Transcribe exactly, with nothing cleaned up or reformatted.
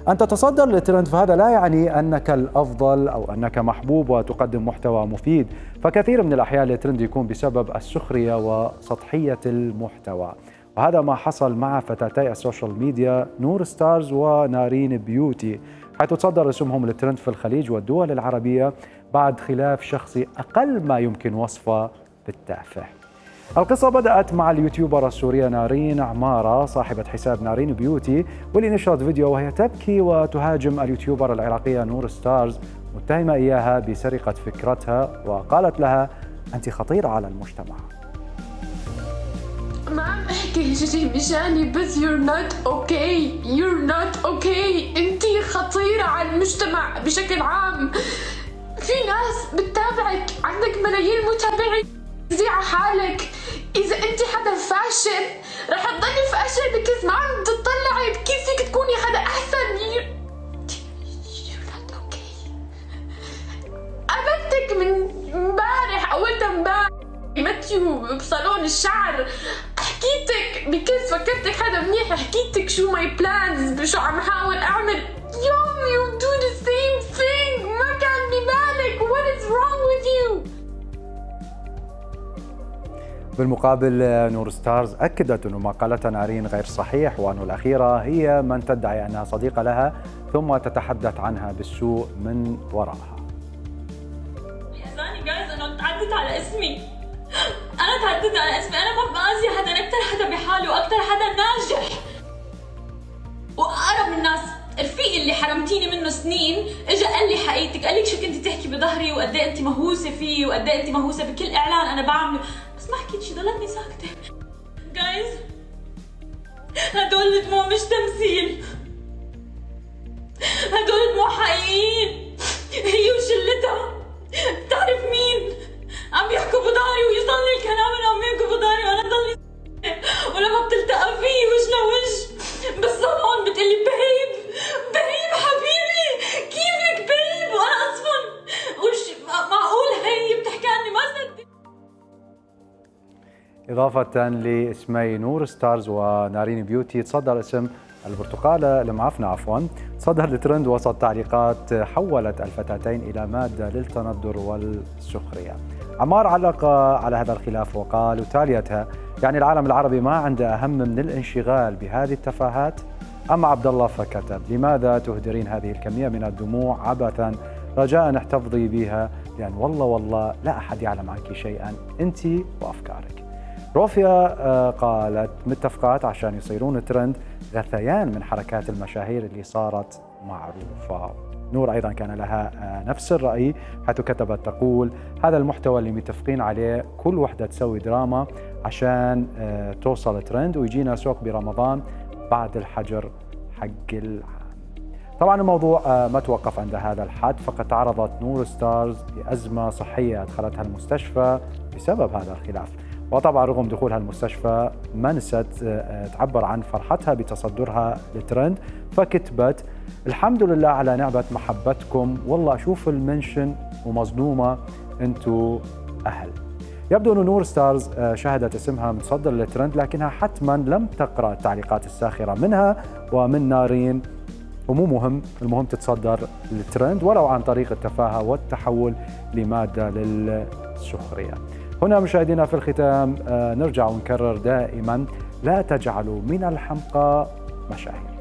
أن تتصدر للترند فهذا لا يعني أنك الأفضل أو أنك محبوب وتقدم محتوى مفيد، فكثير من الأحيان الترند يكون بسبب السخرية وسطحية المحتوى، وهذا ما حصل مع فتاتي السوشيال ميديا نور ستارز ونارين بيوتي، حيث تصدر اسمهم للترند في الخليج والدول العربية بعد خلاف شخصي أقل ما يمكن وصفه بالتافه. القصة بدأت مع اليوتيوبر السورية نارين عمارة صاحبة حساب نارين بيوتي، واللي نشرت فيديو وهي تبكي وتهاجم اليوتيوبر العراقية نور ستارز، متهمة إياها بسرقة فكرتها، وقالت لها أنت خطيرة على المجتمع. ما عم احكي شيء مشاني، بس you're not okay you're not okay انت خطيرة على المجتمع بشكل عام. في ناس بتتابعك، عندك ملايين متابعين، زي على حالك. اذا انت حدا فاشل رح تضلي فاشل بكز ما عم تطلعي كيف فيك تكوني حدا احسن. you're not okay. قابلتك من امبارح او امبارح ماتيو بصالون الشعر، حكيتك بكيس فكرتك حدا منيح، حكيتك شو ماي بلانز، شو عم حاول اعمل. يوم you do the same thing. ما كان ببالك. what is wrong with you. بالمقابل نور ستارز أكدت أن ما قالته نارين غير صحيح، وأن الأخيرة هي من تدعي أنها صديقة لها ثم تتحدث عنها بالسوء من وراءها. يحزنني جايز أنه تعدت على اسمي. أنا تعدت على اسمي، أنا ما بأذي حدا، أنا أكثر حدا بحاله وأكثر حدا ناجح وأقرب الناس. رفيقي اللي حرمتيني منه سنين اجى قال لي حقيقتك، قال لي شو كنتي تحكي بظهري وقد ايه انت مهووسه فيه وقد ايه انت مهووسه بكل اعلان انا بعمله، بس ما حكيت شيء، ضلتني ساكته. جايز هدول دموع مش تمثيل، هدول دموع حقيقيين. هي وشلتها بتعرف مين عم يحكوا بظهري ويوصل لي الكلام انه عم يحكوا بظهري وانا ضلني ساكته، ولما بتلتقى فيه وجه لوجه بالصالون بتقلي بيب بيب حبيبي كيفك بيب، وانا اصلا وش معقول هي بتحكي عني ما صدق. إضافة لاسمي نور ستارز ونارين بيوتي، تصدر اسم البرتقالة المعفنة عفوا تصدر الترند وسط تعليقات حولت الفتاتين إلى مادة للتندر والسخرية. عمار علق على هذا الخلاف وقال وتاليتها: يعني العالم العربي ما عنده أهم من الانشغال بهذه التفاهات؟ أما عبد الله فكتب: لماذا تهدرين هذه الكمية من الدموع عبثا؟ رجاء احتفظي بها، لأن والله والله لا أحد يعلم عنك شيئا، أنت وأفكارك. روفيا قالت: متفقات عشان يصيرون ترند، غثيان من حركات المشاهير اللي صارت معروفة. نور أيضا كان لها نفس الرأي، حيث كتبت تقول: هذا المحتوى اللي متفقين عليه، كل وحدة تسوي دراما عشان توصل ترند ويجينا سوق برمضان بعد الحجر حق العام. طبعا الموضوع ما توقف عند هذا الحد، فقد تعرضت نور ستارز لأزمة صحية أدخلتها المستشفى بسبب هذا الخلاف، وطبعا رغم دخولها المستشفى ما نست تعبر عن فرحتها بتصدرها للترند، فكتبت: الحمد لله على نعمة محبتكم، والله أشوف المنشن ومظلومة، أنتوا أهل. يبدو أن نور ستارز شهدت اسمها متصدر للترند، لكنها حتما لم تقرأ التعليقات الساخرة منها ومن نارين، ومو مهم، المهم تتصدر للترند ولو عن طريق التفاهة والتحول لمادة للسخرية. هنا مشاهدينا في الختام نرجع ونكرر دائما: لا تجعلوا من الحمقى مشاهير.